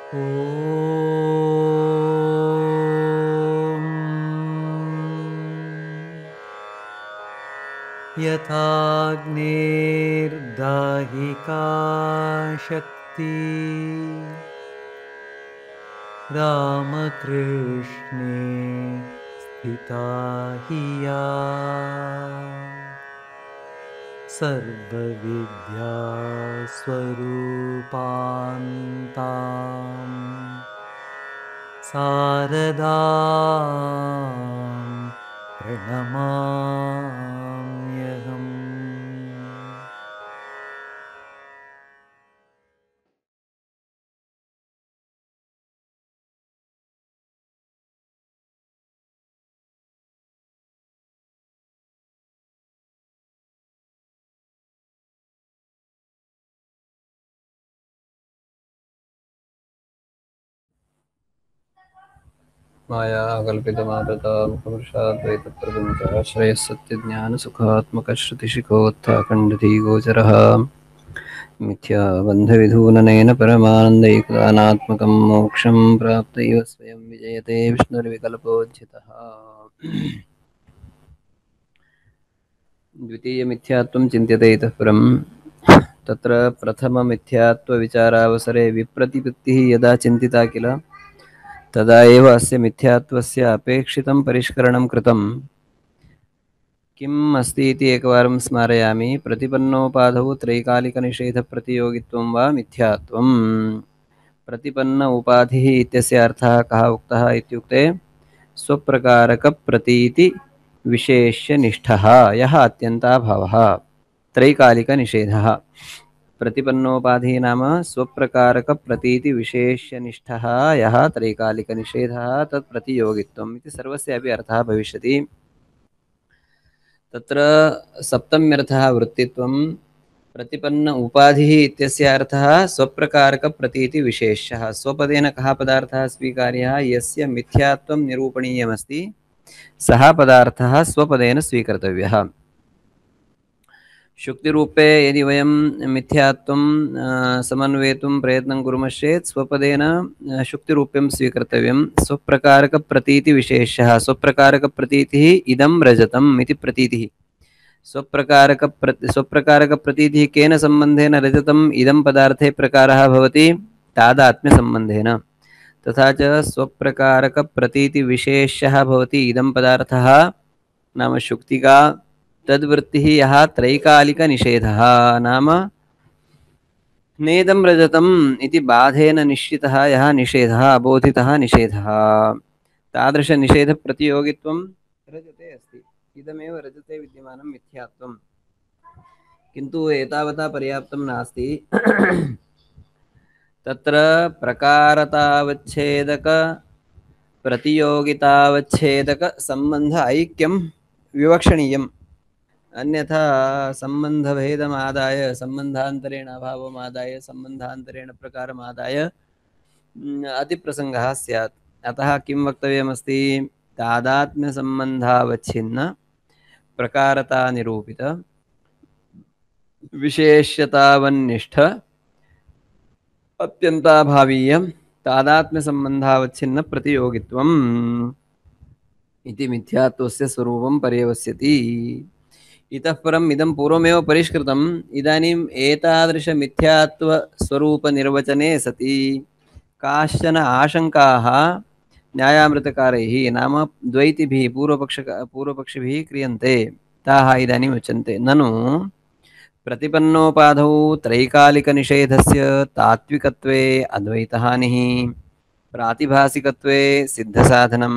ॐ यथाग्नेर्दाहिका शक्ति रामकृष्णे स्थिता हि या सर्वविद्यास्वरूपान्ताम् शारदां प्रणमाम्यहम्। माया कल्पितमातृतामुपपुरुषाद्वैतप्रपञ्चाश्रयः सत्यज्ञानसुखात्मकश्रुतिशिखोत्थाखण्डधीगोचरः मिथ्याबन्धविधूननेन परमानन्दैकदानात्मकं मोक्षं प्राप्तैव स्वयं विजयते विष्णुर्विकल्पोज्झितः। द्वितीयमिथ्यात्वं चिन्त्यते इतः परं तत्र प्रथममिथ्यात्वविचारावसरे विप्रतिपत्तिः यदा चिन्तिता किल तदा एव अस्य मिथ्यात्वस्य अपेक्षितं परिष्करणं कृतं। किम् अस्ति इति एकवारं स्मारयामि। प्रतिपन्नोपाधौ त्रैकालिकनिषेधप्रतियोगित्वं वा मिथ्यात्वम्। प्रतिपन्न उपाधिः इत्यस्य अर्थः कः उक्तः इत्युक्ते स्वप्रकारकप्रतीति विशेष्यनिष्ठः यः अत्यन्ताभावः त्रैकालिकनिषेधः। प्रतिपन्नोपाधिः नाम स्वप्रकारकप्रतीतिविशेष्यनिष्ठः यः त्रैकालिकनिषेधः तत् प्रतियोगित्वम् इति सर्वस्यापि अर्थः भविष्यति। तत्र सप्तम्यर्थः वृत्तित्वं प्रतिपन्न उपाधिः इत्यस्य अर्थः स्वप्रकारकप्रतीतिविशेष्यः। स्वपदेन कः पदार्थः स्वीकार्यः यस्य मिथ्यात्वं निरूपणीयमस्ति सः पदार्थः स्वपदेन स्वीकर्तव्यः। शुक्तिरूपे यदि वयं मिथ्यात्वं समन्वेतुं प्रयत्नं कुर्मश्चेत् स्वपदेन शुक्तिरूप्यं स्वीकर्तव्यं। स्वप्रकारकप्रतीतिविशेषः स्वप्रकारकप्रतीतिः इदं रजतम् इति प्रतीतिः। स्वप्रकारकप्रतीतिः केन सम्बन्धेन रजतम् इदं पदार्थे प्रकारः भवति तादात्म्यसम्बन्धेन। तथा च स्वप्रकारकप्रतीतिविशेष्यः भवति इदं पदार्थः नाम शुक्तिका तद्वृत्तिः यः त्रैकालिकनिषेधः नाम नेदं रजतम् इति बाधेन निश्चितः यः निषेधः अबोधितः निषेधः तादृशनिषेधप्रतियोगित्वं रजते अस्ति। इदमेव रजते विद्यमानं मिथ्यात्वं। किन्तु एतावता पर्याप्तं नास्ति। तत्र प्रकारतावच्छेदक प्रतियोगितावच्छेदक सम्बन्ध ऐक्यं विवक्षणीयम्। अन्यथा सम्बन्धभेदमादाय सम्बन्धान्तरेण अभावमादाय सम्बन्धान्तरेण प्रकारमादाय अतिप्रसङ्गः स्यात्। अतः किं वक्तव्यमस्ति तादात्म्यसम्बन्धावच्छिन्न प्रकारतानिरूपित विशेष्यतावन्निष्ठ अत्यन्ताभावीयं तादात्म्यसम्बन्धावच्छिन्न प्रतियोगित्वम् इति मिथ्यात्वस्य स्वरूपं पर्यवस्यति। इतः परम् इदं पूर्वमेव परिष्कृतम्। इदानीम् एतादृशमिथ्यात्वस्वरूपनिर्वचने सति काश्चन आशङ्काः न्यायामृतकारैः नाम द्वैतिभिः पूर्वपक्षिभिः क्रियन्ते। ताः इदानीम् उच्यन्ते। ननु प्रतिपन्नोपाधौ त्रैकालिकनिषेधस्य तात्विकत्वे अद्वैतहानिः प्रातिभासिकत्वे सिद्धसाधनं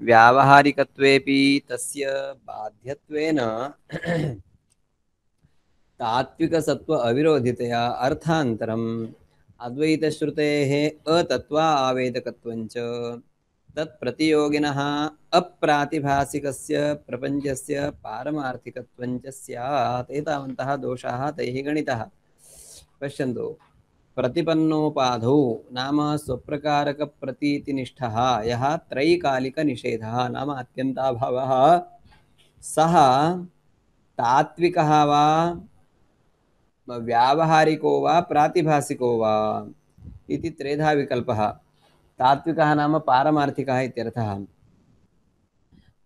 व्यावहारिकत्वेपि तस्य बाध्यत्वेन तात्विकसत्व अविरोधितया अर्थान्तरम् अद्वैतश्रुतेः अतत्वा आवेदकत्वञ्च तत्प्रतियोगिनः अप्रातिभासिकस्य प्रपञ्चस्य पारमार्थिकत्वञ्च स्यात्। एतावन्तः दोषाः तैः गणितः। पश्यन्तु प्रतिपन्नोपाधौ नाम स्वप्रकारकप्रतीतिनिष्ठः यः त्रैकालिकनिषेधः नाम अत्यन्ताभावः सः तात्विकः वा व्यावहारिको वा प्रातिभासिको वा इति त्रेधा विकल्पः। तात्विकः नाम पारमार्थिकः इत्यर्थः।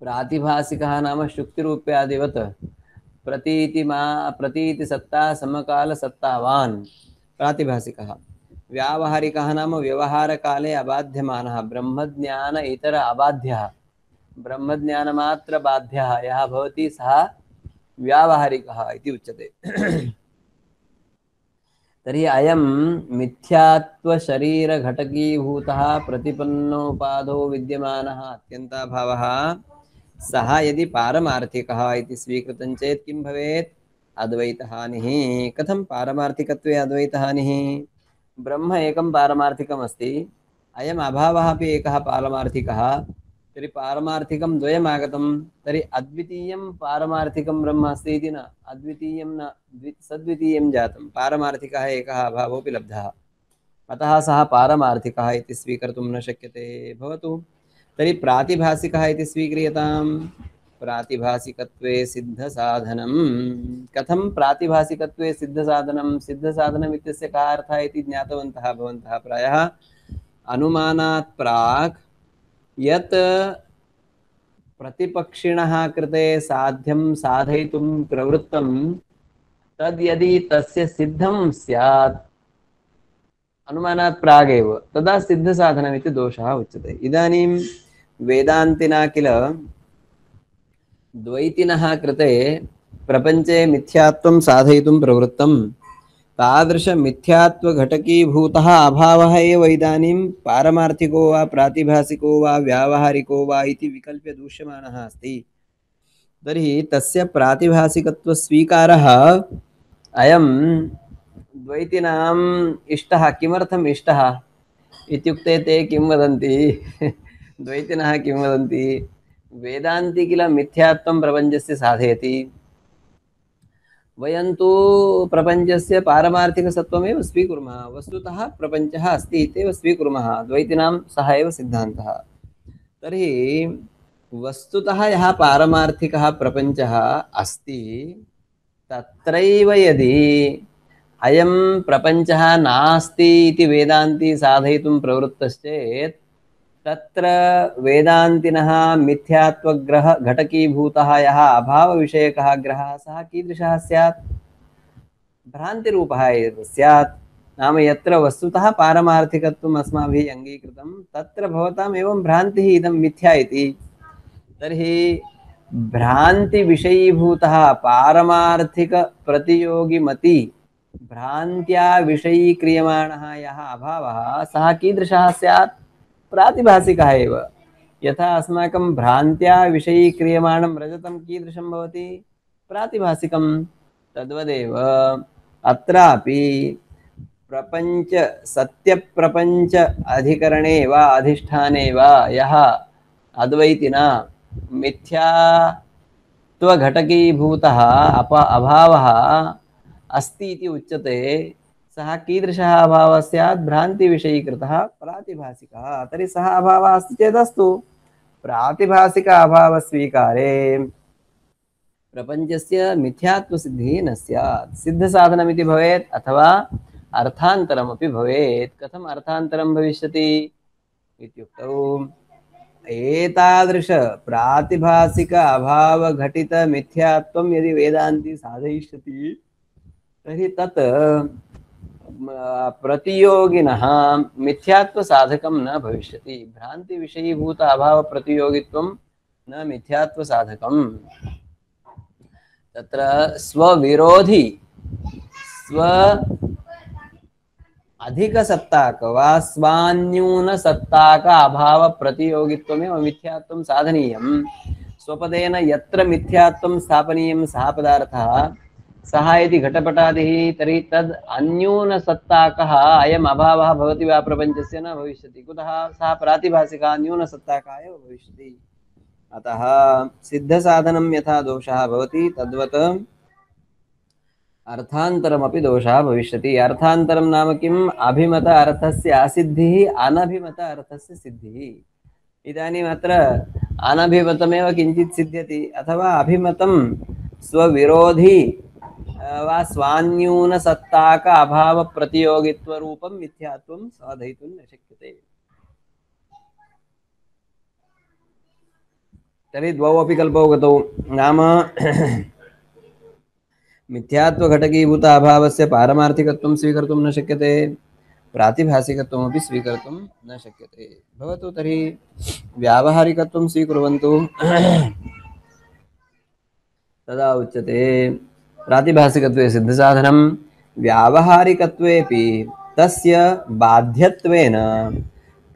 प्रातिभासिकः नाम शुक्तिरूप्यादिवत् प्रतीति सत्ता समकाल सत्तावान् प्रातिभासिकः। व्यावहारिकः नाम व्यवहारकाले अबाध्यमानः ब्रह्मज्ञान इतर अबाध्यः ब्रह्मज्ञानमात्र बाध्यः यः भवति सः व्यावहारिकः इति उच्यते। तर्हि अयं मिथ्यात्वशरीरघटकीभूतः प्रतिपन्नोपाधो विद्यमानः अत्यन्ताभावः सः यदि पारमार्थिकः इति स्वीकृतं चेत् किं भवेत्? अद्वैतहानिः। कथं पारमार्थिकत्वे अद्वैतहानिः? ब्रह्म एकं पारमार्थिकम् अस्ति, अयम् अभावः अपि एकः पारमार्थिकः। तर्हि पारमार्थिकं द्वयम् आगतं, तर्हि अद्वितीयं पारमार्थिकं ब्रह्म अस्ति इति न, अद्वितीयं न, सद्वितीयं जातं, पारमार्थिकः एकः अभावोऽपि लब्धः, अतः सः पारमार्थिकः इति स्वीकर्तुं न शक्यते। भवतु तर्हि प्रातिभासिकः इति स्वीक्रियताम्। प्रातिभासिकत्वे सिद्धसाधनं। कथं प्रातिभासिकत्वे सिद्धसाधनं? सिद्धसाधनम् इत्यस्य कः अर्थः इति ज्ञातवन्तः भवन्तः प्रायः। अनुमानात् प्राक् यत् प्रतिपक्षिणः कृते साध्यं साधयितुं प्रवृत्तं तद् यदि तस्य सिद्धं स्यात् अनुमानात् प्रागेव तदा सिद्धसाधनमिति दोषः उच्यते। इदानीं वेदान्तिना किल द्वैतिनः कृते प्रपञ्चे मिथ्यात्वं साधयितुं प्रवृत्तं, तादृशमिथ्यात्वघटकीभूतः अभावः एव इदानीं पारमार्थिको वा प्रातिभासिको वा व्यावहारिको वा इति विकल्प्य दूष्यमानः अस्ति। तर्हि तस्य प्रातिभासिकत्वस्वीकारः अयं द्वैतिनाम् इष्टः। किमर्थम् इष्टः इत्युक्ते ते किं वदन्ति द्वैतिनः किं वदन्ति? वेदान्ति किल मिथ्यात्वं प्रपञ्चस्य साधयति, वयं तु प्रपञ्चस्य पारमार्थिकसत्त्वमेव स्वीकुर्मः, वस्तुतः प्रपञ्चः अस्ति इत्येव स्वीकुर्मः, द्वैतिनां सः एव सिद्धान्तः। तर्हि वस्तुतः यः पारमार्थिकः प्रपञ्चः अस्ति तत्रैव यदि अयं प्रपञ्चः नास्ति इति वेदान्ती साधयितुं प्रवृत्तश्चेत् तत्र वेदान्तिनः मिथ्यात्वग्रह घटकीभूतः यः अभावविषयकः ग्रहः सः कीदृशः स्यात्? भ्रान्तिरूपः एव स्यात्। नाम यत्र वस्तुतः पारमार्थिकत्वम् अस्माभिः अङ्गीकृतं तत्र भवताम् एवं भ्रान्तिः इदं मिथ्या इति। तर्हि भ्रान्तिविषयीभूतः पारमार्थिकप्रतियोगिमति भ्रान्त्या विषयीक्रियमाणः यः अभावः सः कीदृशः स्यात्? प्रातिभासिकः एव। यथा अस्माकं भ्रान्त्या विषयीक्रियमाणं रजतं कीदृशं भवति? प्रातिभासिकं। तद्वदेव अत्रापि प्रपञ्च सत्यप्रपञ्च अधिकरणे वा अधिष्ठाने वा यः अद्वैतिना मिथ्यात्वघटकीभूतः अभावः अस्ति इति उच्यते, सः कीदृशः अभावः स्यात्? भ्रान्तिविषयीकृतः प्रातिभासिकः। तर्हि सः अभावः अस्ति चेदस्तु, प्रातिभासिक अभावस्वीकारे प्रपञ्चस्य मिथ्यात्वसिद्धिः न स्यात्। सिद्धसाधनमिति भवेत् अथवा अर्थान्तरमपि भवेत्। कथम् अर्थान्तरं भविष्यति इत्युक्तौ एतादृश प्रातिभासिक अभावघटित मिथ्यात्वं यदि वेदान्ती साधयिष्यति तर्हि तत् प्रतियोगिनः मिथ्यात्वसाधकं न भविष्यति। भ्रान्तिविषयीभूत अभावप्रतियोगित्वं न मिथ्यात्वसाधकम्। तत्र स्वविरोधी स्व अधिकसत्ताक वा स्वान्यूनसत्ताक अभावप्रतियोगित्वमेव मिथ्यात्वं साधनीयं। स्वपदेन यत्र मिथ्यात्वं स्थापनीयं सः पदार्थः सः यदि घटपटादिः तर्हि तद् अन्यूनसत्ताकः अयम् अभावः भवति वा प्रपञ्चस्य? न भविष्यति। कुतः? सः प्रातिभासिकः न्यूनसत्ताकः एव भविष्यति। अतः सिद्धसाधनं यथा दोषः भवति तद्वत् अर्थान्तरमपि दोषः भविष्यति। अर्थान्तरं नाम किम्? अभिमत अर्थस्य असिद्धिः, अनभिमत अर्थस्य सिद्धिः। इदानीम् अत्र अनभिमतमेव किञ्चित् सिद्ध्यति अथवा अभिमतं स्वविरोधी वा स्वान्यूनसत्ताक अभावप्रतियोगित्वरूपं मिथ्यात्वं साधयितुं न शक्यते। तर्हि द्वौ अपि कल्पौ गतौ नाम मिथ्यात्वघटकीभूत अभावस्य पारमार्थिकत्वं स्वीकर्तुं न शक्यते, प्रातिभासिकत्वमपि स्वीकर्तुं न शक्यते। भवतु तर्हि व्यावहारिकत्वं स्वीकुर्वन्तु। तदा उच्यते प्रातिभासिकत्वे सिद्धसाधनं व्यावहारिकत्वेपि तस्य बाध्यत्वेन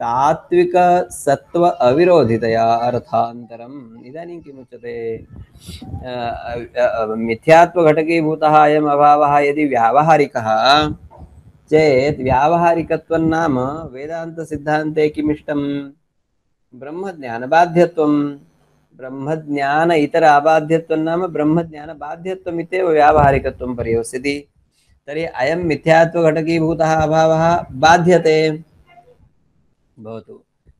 तात्विकसत्त्व अविरोधितया अर्थान्तरम्। इदानीं किमुच्यते? मिथ्यात्वघटकीभूतः अयम् अभावः यदि व्यावहारिकः चेत् व्यावहारिकत्वं नाम वेदान्तसिद्धान्ते किमिष्टं? ब्रह्मज्ञानबाध्यत्वं। ब्रह्मज्ञान इतर अबाध्यत्वं नाम ब्रह्मज्ञानबाध्यत्वम् इत्येव व्यावहारिकत्वं पर्यवस्यति। तर्हि अयं मिथ्यात्वघटकीभूतः अभावः बाध्यते। भवतु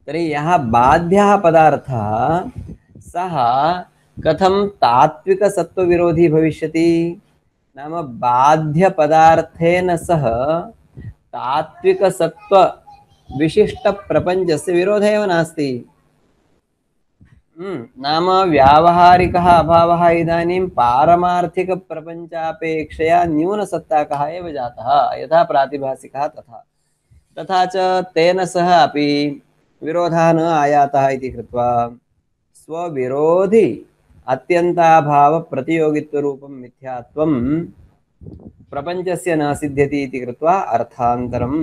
तर्हि यः बाध्यः पदार्थः सः कथं तात्विकसत्त्वविरोधी भविष्यति? नाम बाध्यपदार्थेन सह तात्विकसत्त्वविशिष्टप्रपञ्चस्य विरोधः एव नास्ति। नाम व्यावहारिकः अभावः इदानीं पारमार्थिकप्रपञ्चापेक्षया न्यूनसत्ताकः एव जातः, यथा प्रातिभासिकः तथा च तेन सह अपि विरोधः न आयातः इति कृत्वा स्वविरोधि अत्यन्ताभावप्रतियोगित्वरूपं मिथ्यात्वं प्रपञ्चस्य न सिद्ध्यति इति कृत्वा अर्थान्तरम्।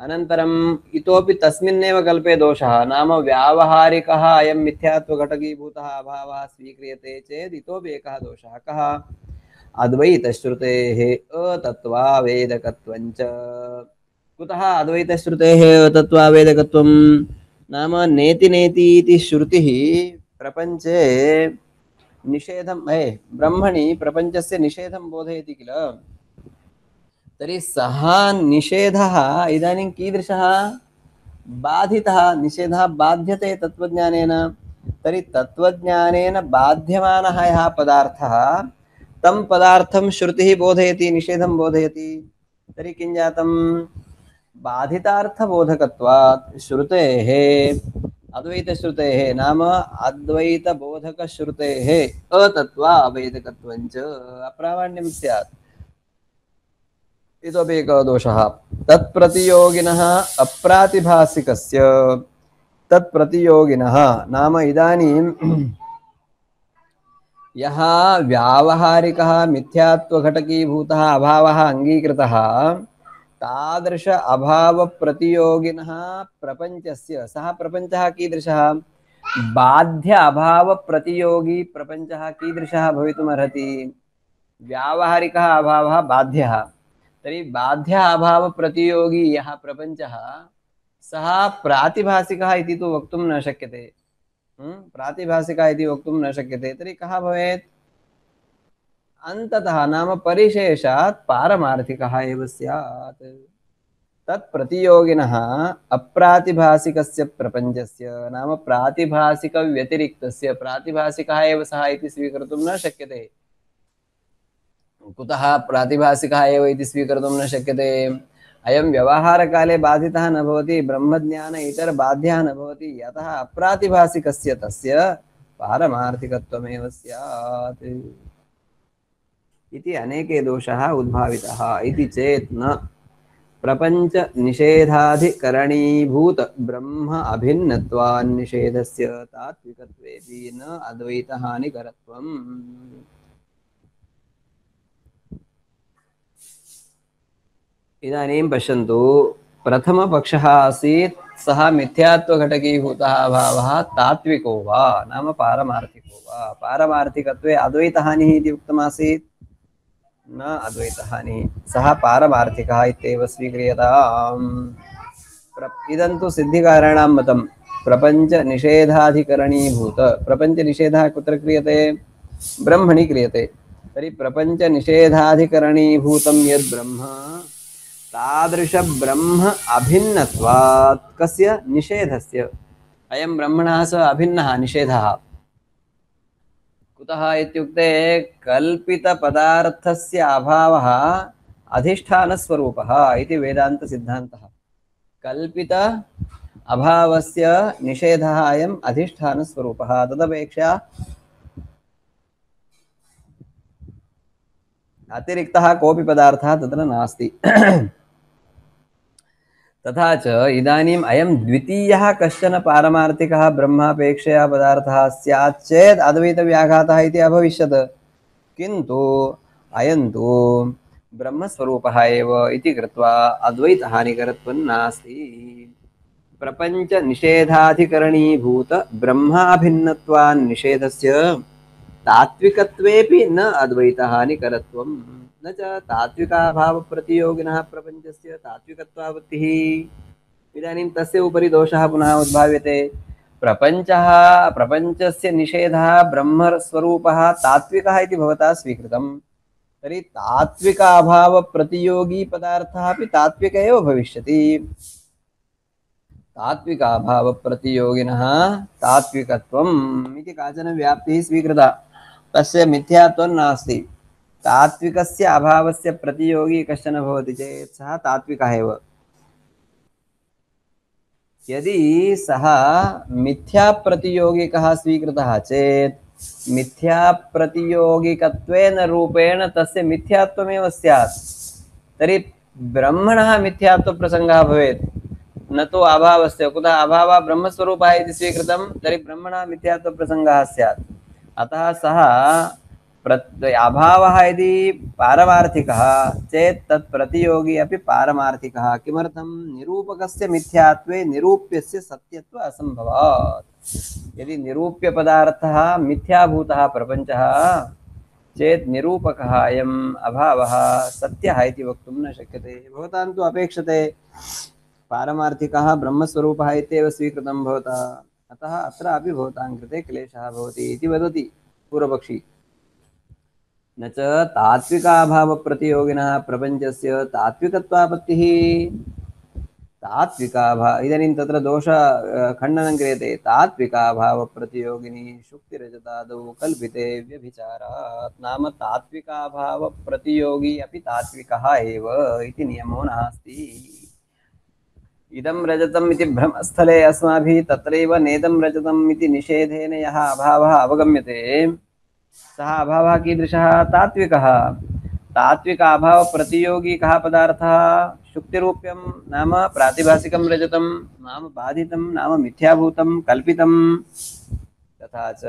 अनन्तरम् इतोपि तस्मिन्नेव कल्पे दोषः, नाम व्यावहारिकः अयं मिथ्यात्वघटकीभूतः अभावः स्वीक्रियते चेत् इतोपि एकः दोषः। कः? अद्वैतश्रुतेः अतत्त्वावेदकत्वञ्च। कुतः अद्वैतश्रुतेः अतत्त्वावेदकत्वं? नाम नेति नेति इति श्रुतिः प्रपञ्चे निषेधं ब्रह्मणि प्रपञ्चस्य निषेधं बोधयति किल। तर्हि सः निषेधः इदानीं कीदृशः? बाधितः। निषेधः बाध्यते तत्त्वज्ञानेन। तर्हि तत्त्वज्ञानेन बाध्यमानः यः पदार्थः तं पदार्थं श्रुतिः बोधयति, निषेधं बोधयति। तर्हि किं जातं? बाधितार्थबोधकत्वात् श्रुतेः, अद्वैतश्रुतेः नाम अद्वैतबोधकश्रुतेः अतत्त्वावेदकत्वञ्च अप्रामाण्यं स्यात्। इतोपि एकः दोषः, तत्प्रतियोगिनः अप्रातिभासिकस्य। तत्प्रतियोगिनः नाम इदानीं यः व्यावहारिकः मिथ्यात्वघटकीभूतः अभावः अङ्गीकृतः, तादृश अभावप्रतियोगिनः प्रपञ्चस्य, सः प्रपञ्चः कीदृशः? बाध्य अभावप्रतियोगी प्रपञ्चः कीदृशः भवितुमर्हति? व्यावहारिकः अभावः बाध्यः। तर्हि बाध्य अभावप्रतियोगी यः प्रपञ्चः सः प्रातिभासिकः इति तु वक्तुं न शक्यते। प्रातिभासिकः इति वक्तुं न शक्यते। तर्हि कः भवेत्? अन्ततः नाम परिशेषात् पारमार्थिकः एव स्यात्। तत्प्रतियोगिनः अप्रातिभासिकस्य प्रपञ्चस्य नाम प्रातिभासिकव्यतिरिक्तस्य, प्रातिभासिकः एव सः इति स्वीकर्तुं न शक्यते। कुतः प्रातिभासिकः एव इति स्वीकर्तुं न शक्यते? अयं व्यवहारकाले बाधितः न भवति, ब्रह्मज्ञान इतर बाध्यः न भवति, यतः अप्रातिभासिकस्य तस्य पारमार्थिकत्वमेव स्यात् इति अनेके दोषाः उद्भाविताः। इति चेत् न प्रपञ्च निषेधाधिकरणीभूत ब्रह्म अभिन्नत्वान्निषेधस्य तात्विकत्वेपि न अद्वैतहानिकरत्वम्। इदानीं पश्यन्तु, प्रथमपक्षः आसीत् सः मिथ्यात्वघटकीभूतः अभावः तात्विको वा नाम पारमार्थिको वा। पारमार्थिकत्वे अद्वैतहानिः इति उक्तमासीत्, न अद्वैतहानिः, सः पारमार्थिकः इत्येव स्वीक्रियताम्। इदं तु सिद्धिकाराणां मतं। प्रपञ्चनिषेधाधिकरणीभूत, प्रपञ्चनिषेधः कुत्र क्रियते? ब्रह्मणि क्रियते। तर्हि प्रपञ्चनिषेधाधिकरणीभूतं यद् ब्रह्म, तादृश ब्रह्म अभिन्नत्वात् कस्य? निषेधस्य। अयं ब्रह्मणः स अभिन्नः निषेधः। कुतः इत्युक्ते कल्पितपदार्थस्य अभावः अधिष्ठानस्वरूपः इति वेदान्तसिद्धान्तः। कल्पित अभावस्य निषेधः अयम् अधिष्ठानस्वरूपः। तदपेक्षया अतिरिक्तः कोऽपि पदार्थः तत्र नास्ति। तथा च इदानीम् अयं द्वितीयः कश्चन पारमार्थिकः ब्रह्मापेक्षया पदार्थः स्यात् चेत् अद्वैतव्याघातः इति अभविष्यत्। किन्तु अयं तु ब्रह्मस्वरूपः एव इति कृत्वा अद्वैतहानिकरत्वं नास्ति। प्रपञ्चनिषेधाधिकरणीभूत ब्रह्माभिन्नत्वान्निषेधस्य तात्विकत्वेपि न अद्वैतहानिकरत्वं न च तात्विकाभावप्रतियोगिनः प्रपञ्चस्य तात्विकत्वावृत्तिः। इदानीं तस्य उपरि दोषः पुनः उद्भाव्यते। प्रपञ्चस्य निषेधः ब्रह्मस्वरूपः तात्विकः इति भवता स्वीकृतं, तर्हि तात्विकाभावप्रतियोगी पदार्थः अपि तात्विक एव भविष्यति। तात्विकाभावप्रतियोगिनः तात्विकत्वम् इति काचन व्याप्तिः स्वीकृता, तस्य मिथ्यात्वं नास्ति। तात्विकस्य अभावस्य प्रतियोगी कश्चन भवति चेत् सः तात्विकः एव। यदि सः मिथ्याप्रतियोगिकः स्वीकृतः चेत् मिथ्याप्रतियोगिकत्वेन रूपेण तस्य मिथ्यात्वमेव स्यात्। तर्हि ब्रह्मणः मिथ्यात्वप्रसङ्गः भवेत्, न तु अभावस्य। कुतः अभावः ब्रह्मस्वरूपः इति स्वीकृतं, तर्हि ब्रह्मणः मिथ्यात्वप्रसङ्गः स्यात्। अतः सः अभावः यदि पारमार्थिकः चेत् तत् प्रतियोगी अपि पारमार्थिकः। किमर्थं? निरूपकस्य मिथ्यात्वे निरूप्यस्य सत्यत्व असम्भवात्। यदि निरूप्यपदार्थः मिथ्याभूतः प्रपञ्चः चेत् निरूपकः अयम् अभावः सत्यः इति वक्तुं न शक्यते। भवतां तु अपेक्षते पारमार्थिकः ब्रह्मस्वरूपः इत्येव स्वीकृतं भवता, अतः अत्र अपि भवतां कृते क्लेशः भवति इति वदति पूर्वपक्षी। न च तात्विकाभावप्रतियोगिनः प्रपञ्चस्य तात्विकत्वापत्तिः। इदानीं तत्र दोष खण्डनं क्रियते। तात्विकाभावप्रतियोगिनी शुक्तिरजतादौ कल्पिते व्यभिचारात्। नाम तात्विकाभावप्रतियोगी अपि तात्विकः एव इति नियमो नास्ति। इदं रजतम् इति भ्रमस्थले अस्माभिः तत्रैव नेदं रजतम् इति निषेधेन यः अभावः अवगम्यते, सः अभावः कीदृशः? तात्विकः। तात्विक अभावप्रतियोगी कः पदार्थः? शुक्तिरूप्यं नाम प्रातिभासिकं रजतं, नाम बाधितं, नाम मिथ्याभूतं, कल्पितं। तथा च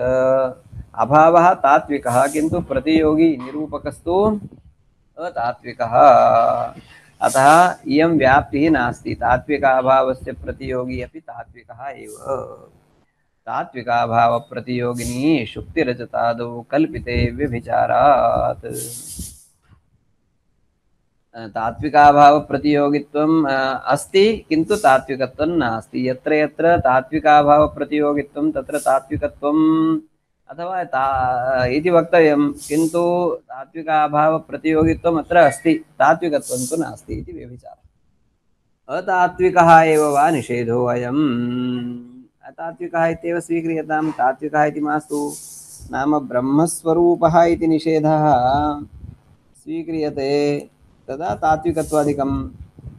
अभावः तात्विकः, किन्तु प्रतियोगी निरूपकस्तु अतात्विकः। अतः इयं व्याप्तिः नास्ति। तात्विकाभावस्य प्रतियोगी अपि तात्विकः एव। तात्विकाभावप्रतियोगिनी शुक्तिरजतादौ कल्पिते व्यभिचारात्। तात्विकाभावप्रतियोगित्वम् अस्ति, किन्तु तात्विकत्वं नास्ति। यत्र यत्र तात्विकाभावप्रतियोगित्वं तत्र तात्विकत्वम् अथवा इति वक्तव्यं, किन्तु तात्विकाभावप्रतियोगित्वम् अत्र अस्ति, तात्विकत्वं तु नास्ति इति व्यभिचारः। अतात्विकः एव वा निषेधो अयम्। अतात्विकः इत्येव स्वीक्रियतां, तात्विकः इति मास्तु। नाम ब्रह्मस्वरूपः इति निषेधः स्वीक्रियते तदा तात्विकत्वादिकं।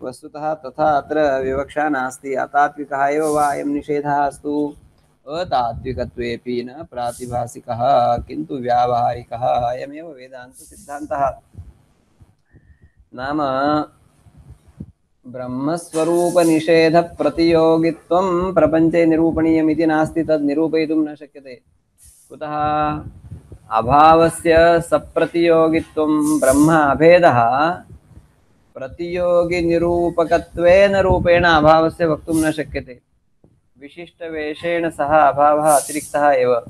वस्तुतः तथा अत्र विवक्षा नास्ति। अतात्विकः एव वा अयं निषेधः अस्तु, अतात्विकत्वेपि न प्रातिभासिकः किन्तु व्यावहारिकः। अयमेव वेदान्तसिद्धान्तः। नाम ब्रह्मस्वरूपनिषेधप्रतियोगित्वं प्रपञ्चे निरूपणीयमिति नास्ति, तद् निरूपयितुं न शक्यते। कुतः? अभावस्य सप्रतियोगित्वं ब्रह्म अभेदः प्रतियोगिनिरूपकत्वेन रूपेण अभावस्य वक्तुं न शक्यते। विशिष्टवेषेण सह अभावः अतिरिक्तः एव।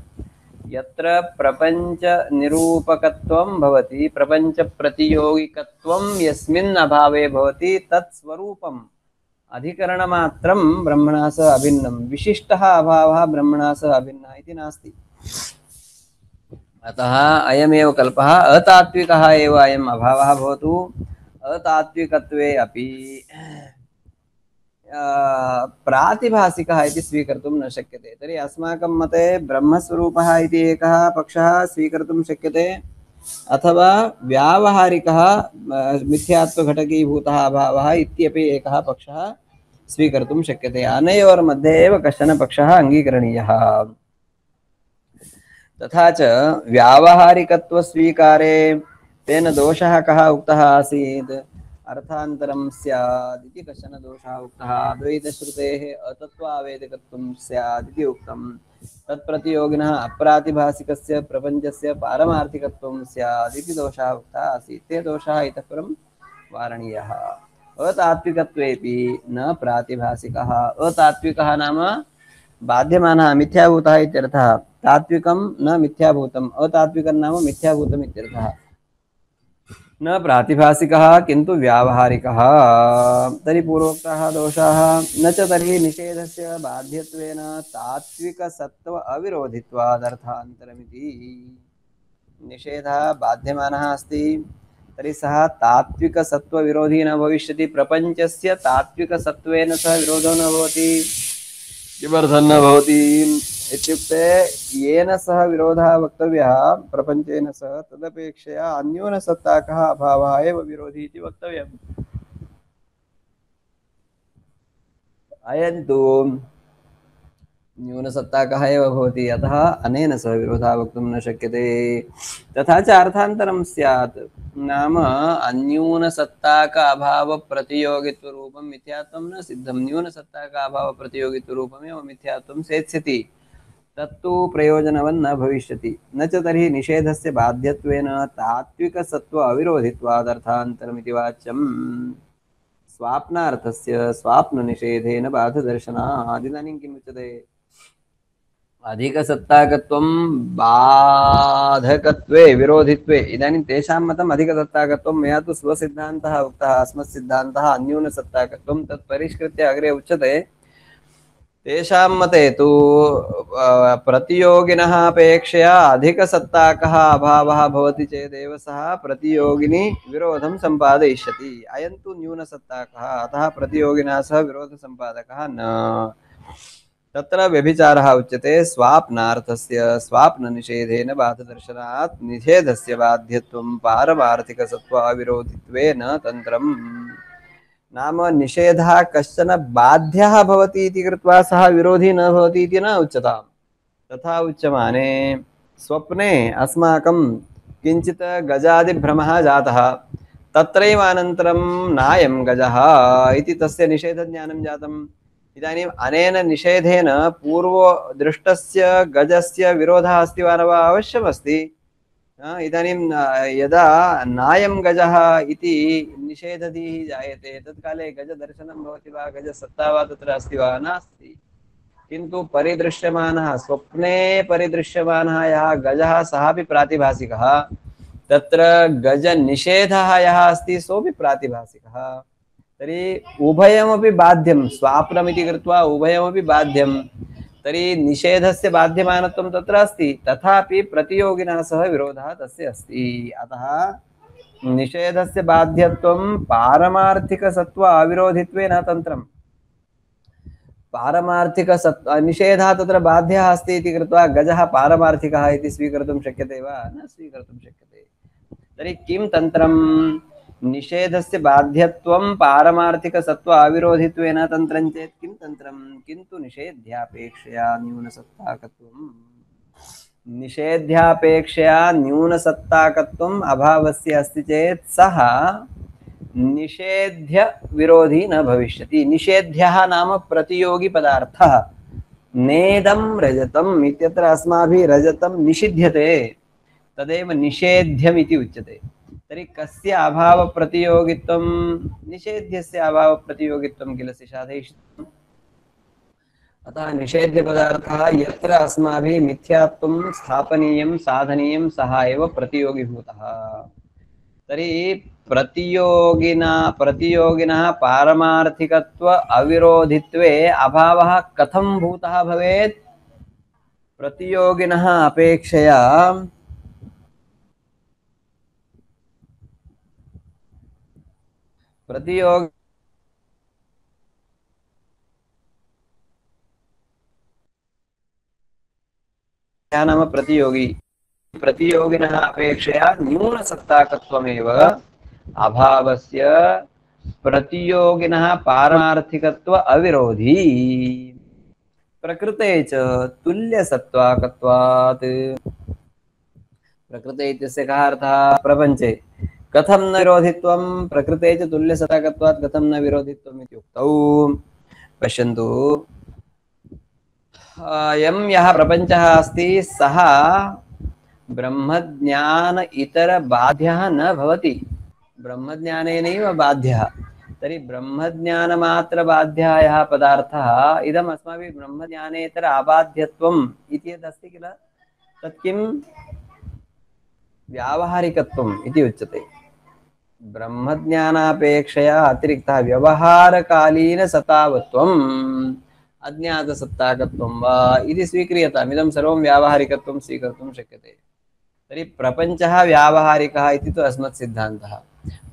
यत्र प्रपञ्चनिरूपकत्वं भवति, प्रपञ्चप्रतियोगिकत्वं यस्मिन् अभावे भवति, तत् स्वरूपम् अधिकरणमात्रं ब्रह्मणा सह अभिन्नं। विशिष्टः अभावः ब्रह्मणा सह अभिन्नः इति नास्ति। अतः अयमेव कल्पः। अतात्विकः एव अयम् अभावः भवतु। अतात्विकत्वे अपि प्रातिभासिकः इति स्वीकर्तुं न शक्यते। तर्हि अस्माकं मते ब्रह्मस्वरूपः इति एकः पक्षः स्वीकर्तुं शक्यते, अथवा व्यावहारिकः मिथ्यात्वघटकीभूतः अभावः इत्यपि एकः पक्षः स्वीकर्तुं शक्यते। अनयोर्मध्ये एव कश्चन पक्षः अङ्गीकरणीयः। तथा च व्यावहारिकत्वस्वीकारे तेन दोषः कः उक्तः आसीत्? अर्थान्तरं स्यात् इति कश्चन दोषः उक्तः। अद्वैतश्रुतेः अतत्त्वावेदिकत्वं स्यात् इति उक्तं। तत्प्रतियोगिनः अप्रातिभासिकस्य प्रपञ्चस्य पारमार्थिकत्वं स्यात् इति दोषः उक्तः आसीत्। ते दोषाः इतः परं वारणीयः। अतात्विकत्वेपि न प्रातिभासिकः। अतात्विकः नाम बाध्यमानः मिथ्याभूतः इत्यर्थः। तात्विकं न मिथ्याभूतम्, अतात्विकं नाम मिथ्याभूतम् इत्यर्थः। न प्रातिभासिकः किन्तु व्यावहारिकः। तर्हि पूर्वोक्ताः दोषाः न च तर्हि निषेधस्य बाध्यत्वेन तात्विकसत्त्व अविरोधित्वादर्थान्तरमिति। निषेधः बाध्यमानः अस्ति, तर्हि सः तात्विकसत्त्वविरोधी न भविष्यति। प्रपञ्चस्य तात्विकसत्त्वेन सह विरोधो न भवति। किमर्थं न भवति इत्युक्ते येन सह विरोधः वक्तव्यः प्रपञ्चेन सह, तदपेक्षया अन्यूनसत्ताकः अभावः एव विरोधी इति वक्तव्यम्। अयं तु न्यूनसत्ताकः एव भवति, अतः अनेन सह विरोधः वक्तुं न शक्यते। तथा च अर्थान्तरं स्यात्, नाम अन्यूनसत्ताक अभावप्रतियोगित्वरूपं मिथ्यात्वं न सिद्धं। न्यूनसत्ताक अभावप्रतियोगित्वरूपमेव मिथ्यात्वं सेत्स्यति, तत्तु प्रयोजनवन् न भविष्यति। न च तर्हि निषेधस्य बाध्यत्वेन तात्विकसत्त्व अविरोधित्वादर्थान्तरमिति वाच्यम्। स्वाप्नार्थस्य स्वाप्ननिषेधेन बाधदर्शनात्। इदानीं किम् उच्यते? अधिकसत्ताकत्वं बाधकत्वे विरोधित्वे। इदानीं तेषां मतम् अधिकसत्ताकत्वं, मया तु स्वसिद्धान्तः उक्तः, अस्मत्सिद्धान्तः अन्यूनसत्ताकत्वं। तत् परिष्कृत्य अग्रे उच्यते तेषां मते तु प्रतियोगिनः अपेक्षया अधिकसत्ताकः अभावः भवति चेदेव सः प्रतियोगिनी विरोधं सम्पादयिष्यति। अयं तु न्यूनसत्ताकः, अतः प्रतियोगिनः सह विरोधसम्पादकः न। तत्र व्यभिचारः उच्यते स्वाप्नार्थस्य स्वाप्ननिषेधेन बाधदर्शनात्। निषेधस्य बाध्यत्वं पारमार्थिकसत्त्व अविरोधित्वेन तन्त्रम्। नाम निषेधः कश्चन बाध्यः भवति इति कृत्वा सः विरोधी न भवति इति न उच्यताम्। तथा उच्यमाने स्वप्ने अस्माकं किञ्चित् गजादिभ्रमः जातः, तत्रैव अनन्तरं नायं गजः इति तस्य निषेधज्ञानं जातम्। इदानीम् अनेन निषेधेन पूर्वदृष्टस्य गजस्य विरोधः अस्ति वा न वा? अवश्यमस्ति। इदानीं यदा नायं गजः इति निषेधधीः जायते, तत्काले गजदर्शनं भवति वा? गजसत्ता वा तत्र अस्ति वा? नास्ति। किन्तु परिदृश्यमानः, स्वप्ने परिदृश्यमानः यः गजः सः अपि प्रातिभासिकः। तत्र गजनिषेधः यः अस्ति सोऽपि प्रातिभासिकः। तर्हि उभयमपि बाध्यं, स्वाप्नमिति कृत्वा उभयमपि बाध्यं। तर्हि निषेधस्य बाध्यमानत्वं तत्र अस्ति, तथापि प्रतियोगिनः सह विरोधः तस्य अस्ति। अतः निषेधस्य बाध्यत्वं पारमार्थिकसत्त्व अविरोधित्वेन तन्त्रम्। निषेधः तत्र बाध्यः अस्ति इति कृत्वा गजः पारमार्थिकः इति स्वीकर्तुं शक्यते वा? न स्वीकर्तुं शक्यते। तर्हि किं तन्त्रं? निषेधस्य बाध्यत्वं पारमार्थिकसत्त्व अविरोधित्वेन तन्त्रं चेत् किं तन्त्रं? किन्तु निषेध्यापेक्षया न्यूनसत्ताकत्वम्। निषेध्यापेक्षया न्यूनसत्ताकत्वम् अभावस्य अस्ति चेत् सः निषेध्य विरोधी न भविष्यति। निषेध्यः नाम प्रतियोगी पदार्थः। नेदं रजतम् इत्यत्र अस्माभिः रजतं निषिध्यते, तदेव निषेध्यम् इति उच्यते। तर्हि कस्य अभावप्रतियोगित्वं? निषेध्यस्य अभावप्रतियोगित्वं किल साधयिष्यम्। अतः निषेध्यपदार्थः यत्र अस्माभिः मिथ्यात्वं स्थापनीयं साधनीयं सः एव प्रतियोगिभूतः। तर्हि प्रतियोगिनः पारमार्थिकत्व अविरोधित्वे अभावः कथं भूतः भवेत्? प्रतियोगिनः अपेक्षया नाम प्रतियोगी प्रतियोगिनः अपेक्षया न्यूनसत्ताकत्वमेव अभावस्य प्रतियोगिनः पारमार्थिकत्व अविरोधी प्रकृते च तुल्यसत्त्वाकत्वात् प्रकृते इत्यस्य कः अर्थः प्रपञ्चे कथं न विरोधित्वं प्रकृते च तुल्यसत्ताकत्वात् कथं न विरोधित्वम् इत्युक्तौ पश्यन्तु यः प्रपञ्चः अस्ति सः ब्रह्मज्ञान इतर बाध्यः न भवति ब्रह्मज्ञानेनैव बाध्यः तर्हि ब्रह्मज्ञानमात्र बाध्यः यः पदार्थः इदम् अस्माभिः ब्रह्मज्ञानेतर अबाध्यत्वम् इति यदस्ति किल तत् किं व्यावहारिकत्वम् इति उच्यते ब्रह्मज्ञानापेक्षया अतिरिक्तः व्यवहारकालीनसतावत्वम् अज्ञातसत्ताकत्वं वा इति स्वीक्रियताम् इदं सर्वं व्यावहारिकत्वं स्वीकर्तुं शक्यते तर्हि प्रपञ्चः व्यावहारिकः इति तु अस्मत् सिद्धान्तः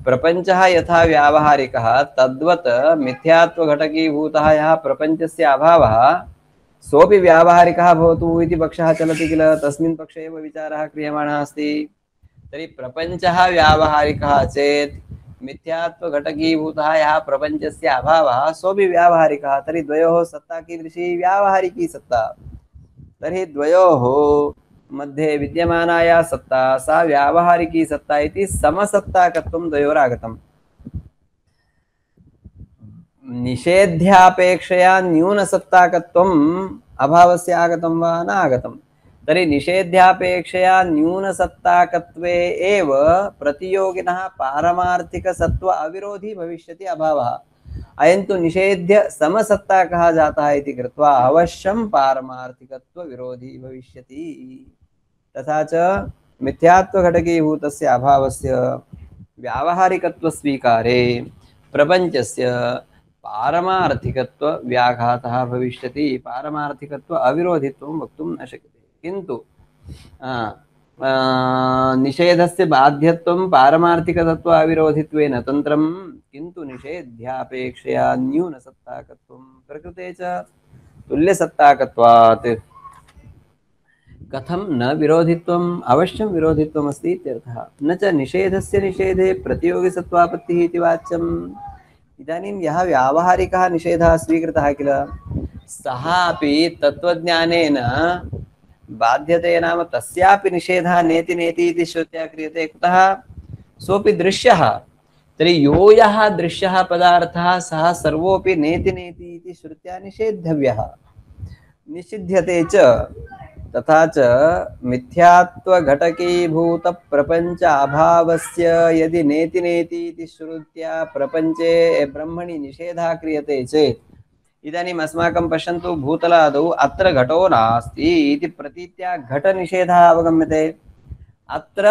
प्रपञ्चः यथा व्यावहारिकः तद्वत् मिथ्यात्वघटकीभूतः यः प्रपञ्चस्य अभावः सोऽपि व्यावहारिकः भवतु इति पक्षः चलति किल तस्मिन् पक्षे एव विचारः क्रियमाणः अस्ति तर्हि प्रपञ्चः व्यावहारिकः चेत् मिथ्यात्वघटकीभूतः यः प्रपञ्चस्य अभावः सोऽपि व्यावहारिकः तर्हि द्वयोः सत्ता कीदृशी व्यावहारिकी सत्ता तर्हि द्वयोः मध्ये विद्यमाना या सत्ता सा व्यावहारिकी सत्ता इति समसत्ताकत्वं द्वयोरागतम् निषेध्यापेक्षया न्यूनसत्ताकत्वम् अभावस्य आगतं वा न आगतं तर्हि निषेध्यापेक्षया न्यूनसत्ताकत्वे एव प्रतियोगिनः पारमार्थिकसत्त्व अविरोधी भविष्यति अभावः अयं तु निषेध्य समसत्ताकः जातः इति कृत्वा अवश्यं पारमार्थिकत्व विरोधी भविष्यति तथा च मिथ्यात्वघटकीभूतस्य अभावस्य व्यावहारिकत्वस्वीकारे प्रपञ्चस्य पारमार्थिकत्व व्याघातः भविष्यति पारमार्थिकत्व अविरोधित्वं वक्तुं न शक्यते किन्तु निषेधस्य बाध्यत्वं पारमार्थिकतत्व अविरोधित्वेन तन्त्रं किन्तु निषेध्यापेक्षया न्यूनसत्ताकत्वं प्रकृते च तुल्यसत्ताकत्वात् कथं न विरोधित्वम् अवश्यं विरोधित्वम् अस्ति इत्यर्थः न च निषेधस्य निषेधे प्रतियोगिसत्त्वापत्तिः इति वाच्यम् इदानीं यः व्यावहारिकः निषेधः स्वीकृतः किल सः अपि तत्त्वज्ञानेन बाध्यते नाम तस्यापि निषेधः नेति नेति इति श्रुत्या क्रियते कुतः सोऽपि दृश्यः तर्हि यो यः दृश्यः पदार्थः सः सर्वोऽपि नेति नेति इति श्रुत्या निषेद्धव्यः निषिध्यते च तथा च मिथ्यात्वघटकीभूतप्रपञ्च अभावस्य यदि नेति नेति इति श्रुत्या प्रपञ्चे ब्रह्मणि निषेधः क्रियते चेत् इदानीम् अस्माकं पश्यन्तु भूतलादौ अत्र घटो नास्ति इति प्रतीत्या घटनिषेधः अवगम्यते अत्र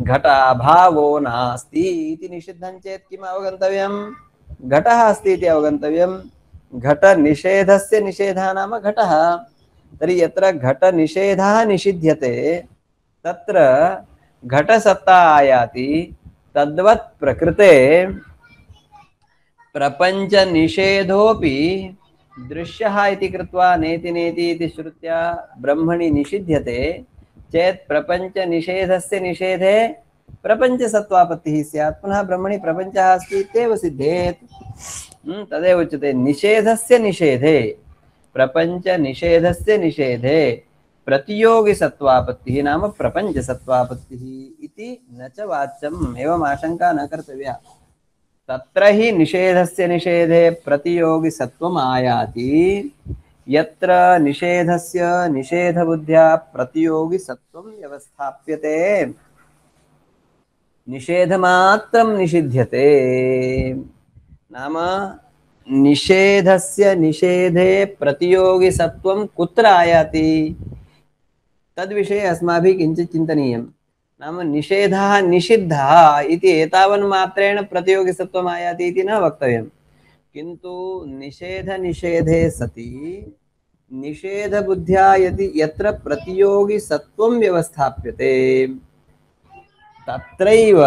घटाभावो नास्ति इति निषिद्धं चेत् किम् अवगन्तव्यं घटः अस्ति इति अवगन्तव्यं घटनिषेधस्य निषेधः नाम घटः तर्हि यत्र घटनिषेधः निषिध्यते तत्र घटसत्ता आयाति तद्वत् प्रकृते प्रपंच निषेधोपि दृश्यः इति कृत्वा नेति नेति इति श्रुत्या ब्रह्मणि निषिध्यते चेत् प्रपंच निषेधस्य निषेधे प्रपंचसत्त्वापत्तिः स्यात् पुनः ब्रह्मणि प्रपंचः अस्ति इत्येव सिद्धेत् तदेव उच्यते निषेधस्य निषेधे प्रपंच निषेधस्य निषेधे प्रतियोगिसत्त्वापत्तिः नाम प्रपंचसत्त्वापत्तिः इति न च वाच्यम् एवम् आशंका न कर्तव्या तत्र हि निषेधस्य निषेधे प्रतियोगिसत्त्वम् आयाति यत्र निषेधस्य निषेधबुद्ध्या प्रतियोगिसत्त्वं व्यवस्थाप्यते निषेधमात्रं निषिध्यते नाम निषेधस्य निषेधे प्रतियोगिसत्त्वं कुत्र आयाति तद्विषये अस्माभिः किञ्चित् चिन्तनीयम् नाम निषेधः निषिद्धः इति एतावन्मात्रेण प्रतियोगिसत्त्वम् आयाति इति न वक्तव्यं किन्तु निषेधे सति निषेधबुद्ध्या यदि यत्र प्रतियोगिसत्त्वं व्यवस्थाप्यते तत्रैव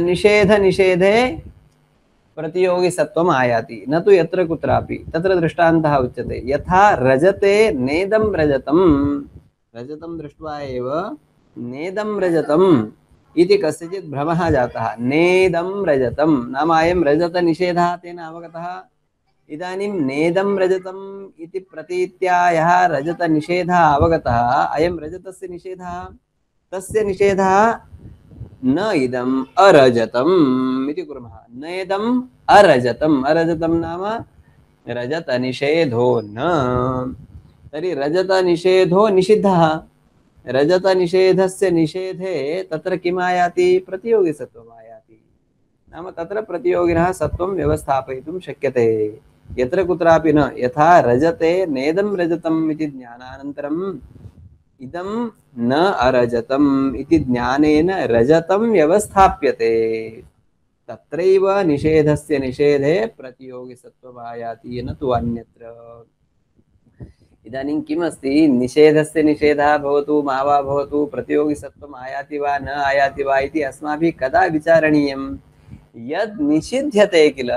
निषेधे प्रतियोगिसत्वम् आयाति, न तु यत्र कुत्रापि। तत्र दृष्टान्तः उच्यते, यथा रजते नेदं रजतं, रजतं दृष्ट्वा एव नेदं रजतम् इति कस्यचित् भ्रमः जातः। नेदं रजतं नाम अयं रजतनिषेधः तेन अवगतः। इदानीं नेदं रजतम् इति प्रतीत्या यः रजतनिषेधः अवगतः, अयं रजतस्य निषेधः, तस्य निषेधः न इदम् अरजतम् इति कुर्मः। नेदम् अरजतम्, अरजतं नाम रजतनिषेधो न। तर्हि रजतनिषेधो निषिद्धः। रजतनिषेधस्य निषेधे तत्र किम् आयाति? प्रतियोगिसत्वम् आयाति। नाम तत्र प्रतियोगिनः सत्वं व्यवस्थापयितुं शक्यते, यत्र कुत्रापि न। यथा रजते नेदं रजतम् इति ज्ञानानन्तरम् इदं न अरजतम् इति ज्ञानेन रजतं व्यवस्थाप्यते, तत्रैव निषेधस्य निषेधे प्रतियोगिसत्वम् आयाति, न तु अन्यत्र। इदानीं किम् अस्ति? निषेधस्य निषेधः भवतु मा वा भवतु, प्रतियोगिसत्वम् आयाति वा न आयाति वा इति अस्माभिः कदा विचारणीयं? यद् निषिध्यते किल,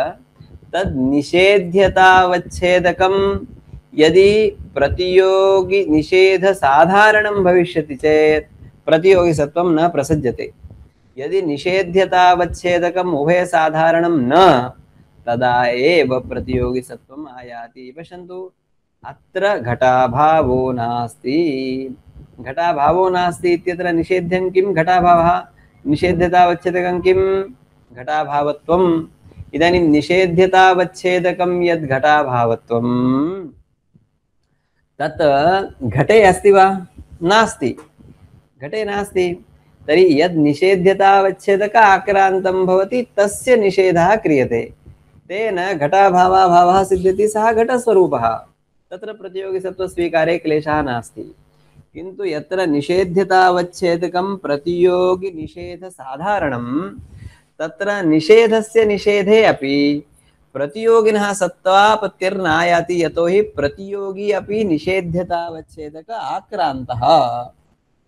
तद् निषेध्यतावच्छेदकं यदि प्रतियोगि निषेध साधारणं भविष्यति चेत् प्रतियोगिसत्वं न प्रसज्यते। यदि निषेध्यतावच्छेदकम् उभय साधारणं न, तदा एव प्रतियोगिसत्वम् आयाति। पश्यन्तु, अत्र घटाभावो नास्ति। घटाभावो नास्ति इत्यत्र निषेध्यं किं? घटाभावः। निषेध्यतावच्छेदकं किं? घटाभावत्वम्। इदानीं निषेध्यतावच्छेदकं यद् घटाभावत्वं, तत् घटे अस्ति वा? नास्ति, घटे नास्ति। तर्हि यद् निषेध्यतावच्छेदक आक्रान्तं भवति तस्य निषेधः क्रियते, तेन घटाभावाभावः सिद्ध्यति, सः घटस्वरूपः। तत्र प्रतियोगिसत्त्वस्वीकारे क्लेशः नास्ति। किन्तु यत्र निषेध्यतावच्छेदकं प्रतियोगिनिषेधसाधारणं, तत्र निषेधस्य निषेधे अपि प्रतियोगिनः सत्त्वापत्तिर्नायाति, यतोहि प्रतियोगी अपि निषेध्यतावच्छेदक आक्रान्तः।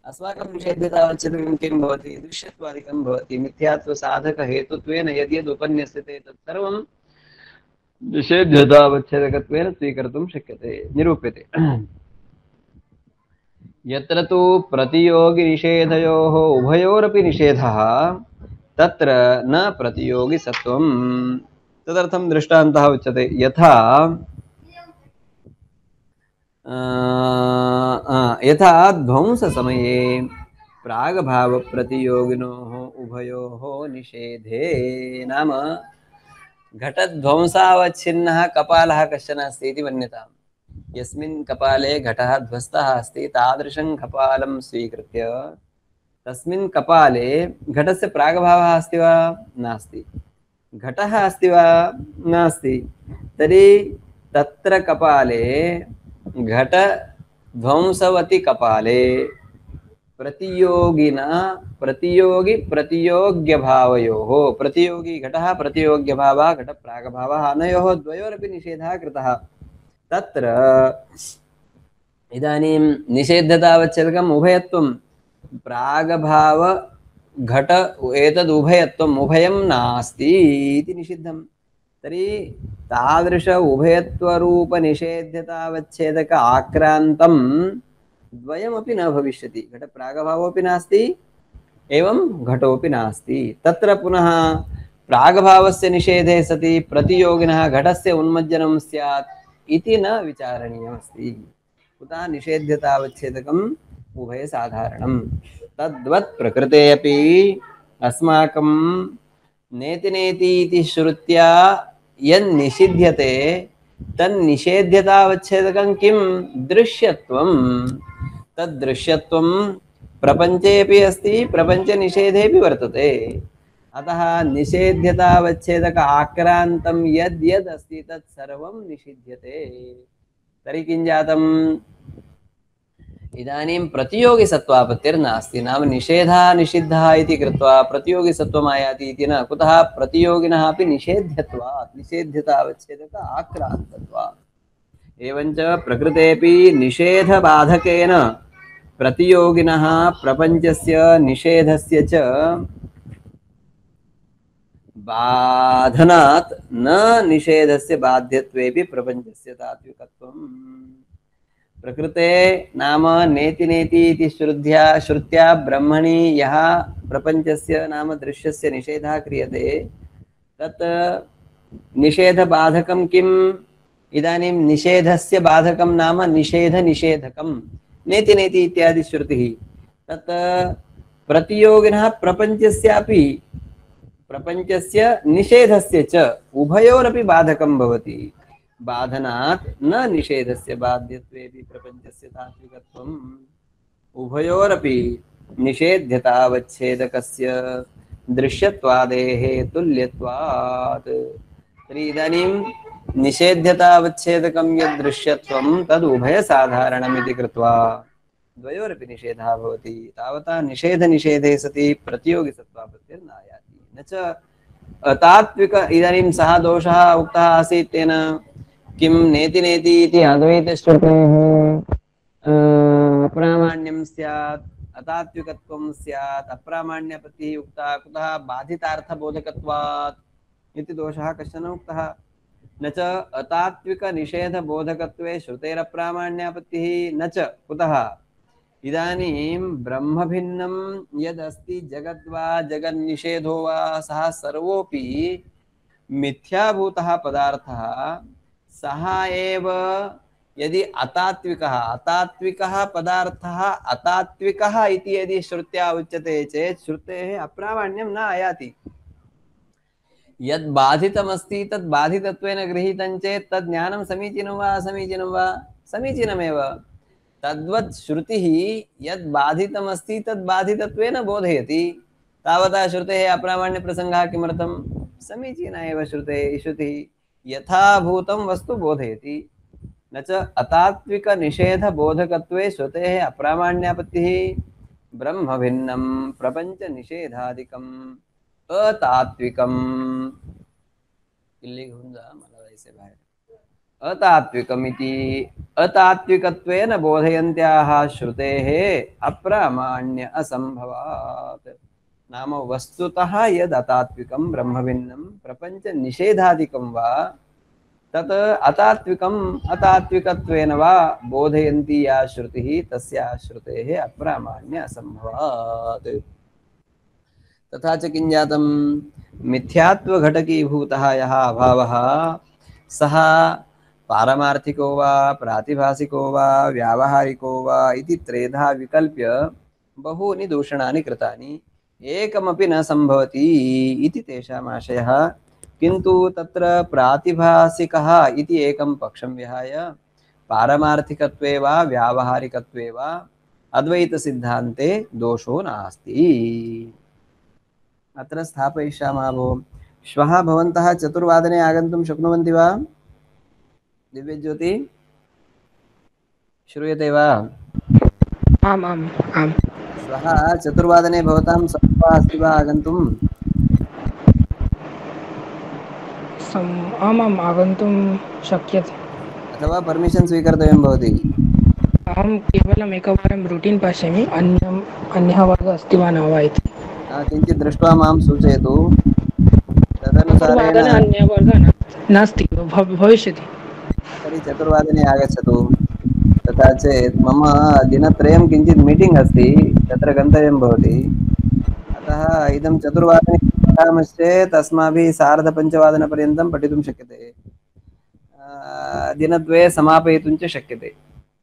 अस्माकं निषेध्यतावच्छेदकं किं भवति? दृश्यत्वादिकं भवति। मिथ्यात्वसाधकहेतुत्वेन यद्यद् उपन्यस्यते तत्सर्वं निषेध्यतावच्छेदकत्वेन स्वीकर्तुं शक्यते, निरूप्यते। यत्र तु प्रतियोगिनिषेधयोः उभयोरपि निषेधः, तत्र न प्रतियोगिसत्वं। तदर्थं दृष्टान्तः उच्यते, यथा यथा ध्वंससमये प्रागभावप्रतियोगिनोः उभयोः निषेधे, नाम घटध्वंसावच्छिन्नः कपालः कश्चन अस्ति इति मन्यताम्। यस्मिन् कपाले घटः ध्वस्तः अस्ति, तादृशं कपालं स्वीकृत्य तस्मिन् कपाले घटस्य प्रागभावः अस्ति वा? नास्ति। घटः अस्ति वा? नास्ति। तर्हि तत्र कपाले घटध्वंसवति कपाले प्रतियोगिना प्रतियोग्यभावयोः, प्रतियोगी घटः प्रतियोग्यभावः घटप्रागभावः, अनयोः द्वयोरपि निषेधः कृतः। तत्र इदानीं निषेध्यतावच्छेदकम् उभयत्वं, प्रागभाव घट एतद् उभयत्वम्, उभयं नास्ति इति निषिद्धं। तर्हि तादृश उभयत्वरूपनिषेध्यतावच्छेदक आक्रान्तं द्वयमपि न भविष्यति। घटप्रागभावोऽपि नास्ति, एवं घटोऽपि नास्ति। तत्र पुनः प्रागभावस्य निषेधे सति प्रतियोगिनः घटस्य उन्मज्जनं स्यात् इति न विचारणीयमस्ति। कुतः? निषेध्यतावच्छेदकम् उभयसाधारणं। तद्वत् प्रकृते अपि अस्माकं नेति नेति इति श्रुत्या यन्निषिध्यते तन्निषेध्यतावच्छेदकं किं? दृश्यत्वं। तद्दृश्यत्वं प्रपञ्चेऽपि अस्ति, प्रपञ्चनिषेधेऽपि वर्तते। अतः निषेध्यतावच्छेदक आक्रान्तं यद् यद् अस्ति तत् सर्वं निषिध्यते। तर्हि किं जातम्? इदानीं प्रतियोगिसत्त्वापत्तिर्नास्ति। नाम निषेधः निषिद्धः इति कृत्वा प्रतियोगिसत्त्वम् आयाति इति न। कुतः? प्रतियोगिनः अपि निषेध्यत्वात्, निषेध्यतावच्छेदक आक्रान्तत्वात्। एवञ्च प्रकृतेऽपि निषेधबाधकेन प्रतियोगिनः प्रपञ्चस्य निषेधस्य च बाधनात् न निषेधस्य बाध्यत्वेपि प्रपञ्चस्य तात्विकत्वम्। प्रकृते नाम नेति नेति इति श्रुत्या ब्रह्मणि यः प्रपञ्चस्य नाम दृश्यस्य निषेधः क्रियते तत् निषेधबाधकं किम्? इदानीं निषेधस्य बाधकं नाम निषेधकं नेति नेति इत्यादि श्रुतिः तत् प्रतियोगिनः प्रपञ्चस्यापि प्रपञ्चस्य निषेधस्य च उभयोरपि बाधकं भवति। बाधनात् न निषेधस्य बाध्यत्वेपि प्रपञ्चस्य तात्विकत्वम्। उभयोरपि निषेध्यतावच्छेदकस्य दृश्यत्वादेः तुल्यत्वात्। तर्हि इदानीं निषेध्यतावच्छेदकं यद् दृश्यत्वं तद् उभयसाधारणमिति कृत्वा द्वयोरपि निषेधः भवति। तावता निषेधे सति प्रतियोगिसत्त्वापत्तिर्नायाति। न च तात्विक इदानीं सः दोषः उक्तः आसीत् तेन किं नेति नेति इति अद्वैतश्रुतेः अप्रामाण्यं स्यात् अतात्विकत्वं स्यात् अप्रामाण्यपत्तिः उक्ता कुतः बाधितार्थबोधकत्वात् इति दोषः कश्चन उक्तः। न च अतात्विकनिषेधबोधकत्वे श्रुतेरप्रामाण्यापत्तिः न च कुतः इदानीं ब्रह्मभिन्नं यदस्ति जगद्वा जगन्निषेधो वा सः सर्वोऽपि मिथ्याभूतः पदार्थः सः एव यदि अतात्विकः पदार्थः अतात्विकः इति यदि श्रुत्या उच्यते चेत् श्रुतेः अप्रामाण्यं न आयाति। यद् बाधितमस्ति तद् बाधितत्वेन गृहीतं चेत् तद् ज्ञानं समीचीनं वा असमीचीनं वा? समीचीनमेव। तद्वत् श्रुतिः यद् बाधितमस्ति तद् बाधितत्वेन बोधयति। तावता श्रुतेः अप्रामाण्यप्रसङ्गः किमर्थं? समीचीना एव श्रुतिः यथाभूतं वस्तु बोधयति। न च अतात्विकनिषेधबोधकत्वे श्रुतेः अप्रामाण्यापत्तिः ब्रह्मभिन्नं प्रपञ्चनिषेधादिकम् अतात्विकम्। इल्ली घेऊन जा मला जायचे बाहेर। अतात्विकमिति अतात्विकत्वेन बोधयन्त्याः श्रुतेः अप्रामाण्य असम्भवात्। नाम वस्तुतः यद् अतात्विकं ब्रह्मभिन्नं प्रपञ्चनिषेधादिकं वा तत् अतात्विकत्वेन वा बोधयन्ती या श्रुतिः तस्याः श्रुतेः अप्रामाण्य असम्भवात्। तथा च किं जातं? मिथ्यात्वघटकीभूतः यः अभावः सः पारमार्थिको वा प्रातिभासिको वा व्यावहारिको वा इति त्रेधा विकल्प्य बहूनि दूषणानि कृतानि एकमपि न सम्भवति इति तेषाम् आशयः। किन्तु तत्र प्रातिभासिकः इति एकं पक्षं विहाय पारमार्थिकत्वे वा व्यावहारिकत्वे वा अद्वैतसिद्धान्ते दोषो नास्ति। अत्र स्थापयिष्यामः भोः। श्वः भवन्तः 4 आगन्तुं शक्नुवन्ति वा? दिव्यज्योति श्रूयते वा? आम् आम् आम्। श्वः 4 भवतां सम्भवः अस्ति वा आगन्तुं? आमाम् आगन्तुं शक्यते। अथवा पर्मिशन् स्वीकर्तव्यं भवति? अहं केवलम् एकवारं रूटीन् पश्यामि अन्यः वर्गः अस्ति वा न वा इति। किञ्चित् दृष्ट्वा मां सूचयतु। तदनुसारेण अन्यः वर्गः नास्ति भविष्यति। तर्हि 4 आगच्छतु। तथा चेत् मम दिनत्रयं किञ्चित् मीटिङ्ग् अस्ति तत्र गन्तव्यं भवति। अतः इदं 4 पठामश्चेत् अस्माभिः 4:30 पठितुं शक्यते। दिनद्वये समापयितुं च शक्यते।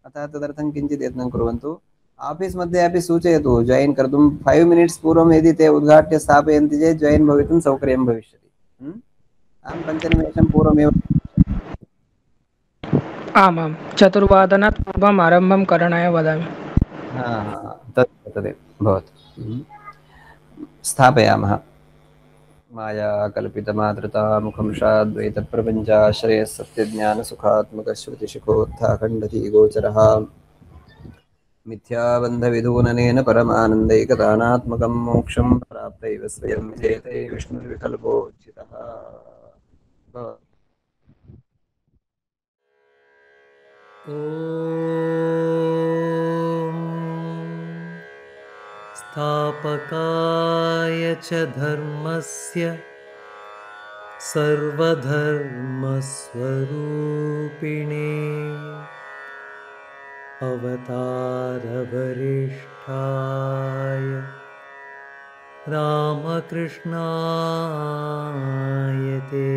अतः तदर्थं किञ्चित् यत्नं कुर्वन्तु। आफीस् मध्ये अपि सूचयतु जायिन् कर्तुं 5 मिनिट्स् पूर्वं यदि ते उद्घाट्य स्थापयन्ति चेत् जायिन् भवितुं सौकर्यं भविष्यति। अहं 5 निमेषं पूर्वमेव आमां 4 पूर्वम् आरम्भं करणाय वदामि। तत् तदेव भवतु। स्थापयामः। माया कल्पितमातृता मुखंशाद्वैतप्रपञ्चाश्रयः सत्यज्ञानसुखात्मकश्रुतिशिखोत्थाखण्डधी गोचरः मिथ्याबन्धविधूननेन परमानन्दैकदानात्मकं मोक्षं प्राप्तैव स्वयं विजेते विष्णुर्विकल्पोचितः। ॐ स्थापकाय च धर्मस्य सर्वधर्मस्वरूपिणे अवतारवरिष्ठाय रामकृष्णाय ते